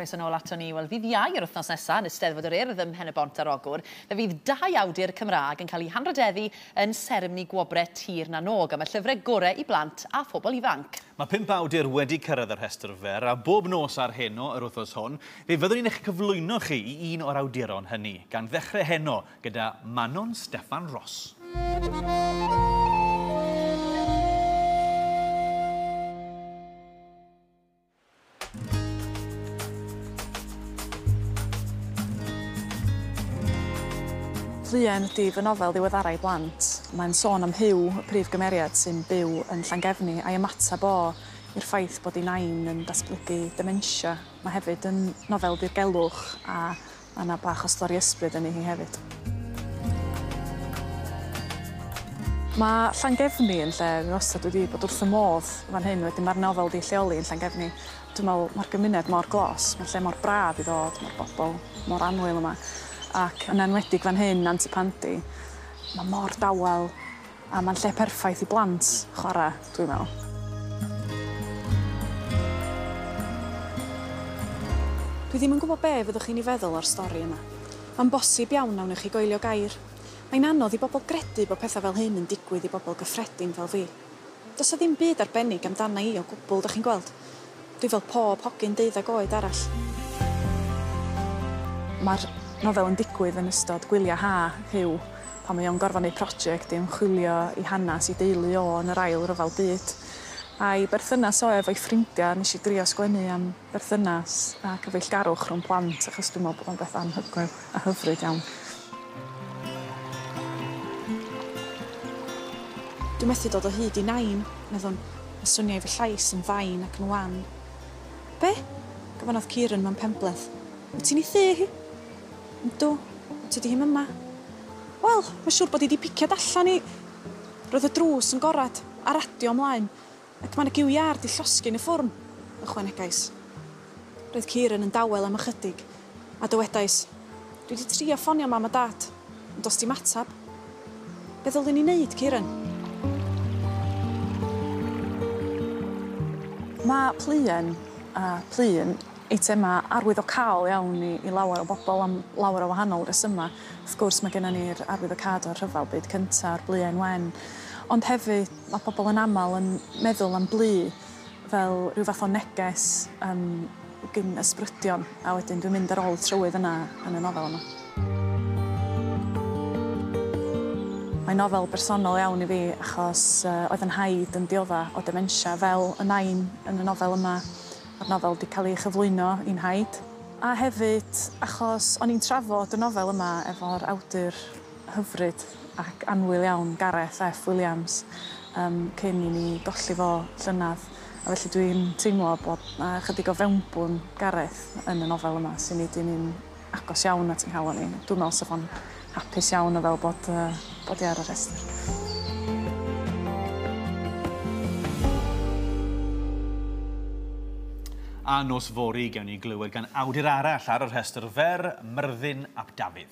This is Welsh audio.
Croeso nôl ato ni. Wel, ddydd Iau yr wythnos nesaf yn Eisteddfod yr Urdd ym Mhen-y-bont ar Ogwr, fe fydd dau awdur Cymraeg yn cael eu hanrhydeddu yn seremoni gwobrau Tir na n-Og am y llyfrau gorau i blant a phobl ifanc. Mae 5 awdur wedi cyrraedd y rhestr fer, a bob nos ar heno yr wythnos hon, fe fyddwn ni'n eich cyflwyno chi i un o'r awduron hynny, gan ddechrau heno gyda Manon Steffan Ros. Pluen ydy fy nofel ddiweddara i blant. Mae'n sôn am Huw, y prif gymeriad sy'n byw yn Llangefni, a'i ymateb o i'r ffaith bod ei nain yn datblygu dementia. Mae hefyd yn nofel dirgelwch a mae yna bach o stori ysbryd yn hi hefyd. Mae Llangefni yn lle fi wastad wedi bod wrth y modd fan hyn, wedyn mae'r nofel 'di lleoli yn Llangefni. Dwi'n meddwl mae'r gymuned mor glos, mae'r lle mor braf i ddod, mae'r bobl mor annwyl yma. Ac yn enwedig fan hyn, Nant y Pandy, mae mor dawel a mae'n lle perffaith i blant chwarae, dwi'n meddwl. Dwi ddim yn gwybod be fyddwch chi'n ei feddwl o'r stori yma. Mae'n bosib iawn na wnewch chi goelio gair. Mae'n anodd i bobl gredu bod pethau fel hyn yn digwydd i bobl gyffredin fel fi. Does 'na ddim byd arbennig amdana i o gwbl, dach chi'n gweld. Dwi fel pob hogyn deuddag oed arall. Mae'r nofel yn digwydd yn ystod gwyliau ha Huw, pan mae o'n gorfod neud prosiect i ymchwilio i hanes i deulu o yn yr Ail Ryfel Byd. A'i berthynas o efo'i ffrindiau, nes i drio sgwennu am berthynas a cyfeillgarwch rhwng plant, achos dwi'n meddwl bod o'n beth anhygoel a hyfryd iawn. Dwi methu dod o hyd i Nain, meddwn, a swniai fy llais yn fain ac yn wan. Be? gofynnodd Kieran mewn penbleth. Wyt ti'n ei thŷ hi? Yndw, ond tydi hi'm yma. Wel, mae'n siŵr bod hi 'di piciad allan i... Roedd y drws yn gorad, a radio ymlaen, ac mae 'na gyw iâr 'di llosgi yn y ffwrn, ychwanegais. Roedd Kieran yn dawel am ychydig, a dywedais, Dwi 'di trio ffonio Mam a Dad, ond does dim ateb. Be ddylwn i wneud, Kieran? Mae pluen a plu yn eitemau arwyddocaol iawn i i lawer o bobl am lawer o wahanol resymau. Wrth gwrs mae gennym ni'r arwyddocâd o'r Rhyfel Byd Cyntaf, a'r bluen wen, ond hefyd mae pobl yn aml yn meddwl am blu fel rhyw fath o neges yym gin ysbrydion, a wedyn dwi'n mynd ar ôl y trywydd yna yn y nofel yma. Mae'n nofel bersonol iawn i fi achos oedd 'y nhaid yn diodda' o dementia fel y nain yn y nofel yma. Ma'r nofel 'di cael ei chyflwyno i 'nhaid. A hefyd achos o'n i'n trafod y nofel yma efo'r awdur hyfryd ac annwyl iawn Gareth F Williams yym cyn i ni golli fo llynedd, a felly dwi'n teimlo bod 'na ychydig o fewnbwn Gareth yn y nofel yma sy'n neud hi'n un agos iawn at 'y nghalon i. Dwi'n meddwl 'sa fo'n hapus iawn o fel bod yy bod hi ar y rhestr. A nos fory gewn ni glywed gan awdur arall ar y rhestr fer, Myrddin ap Dafydd.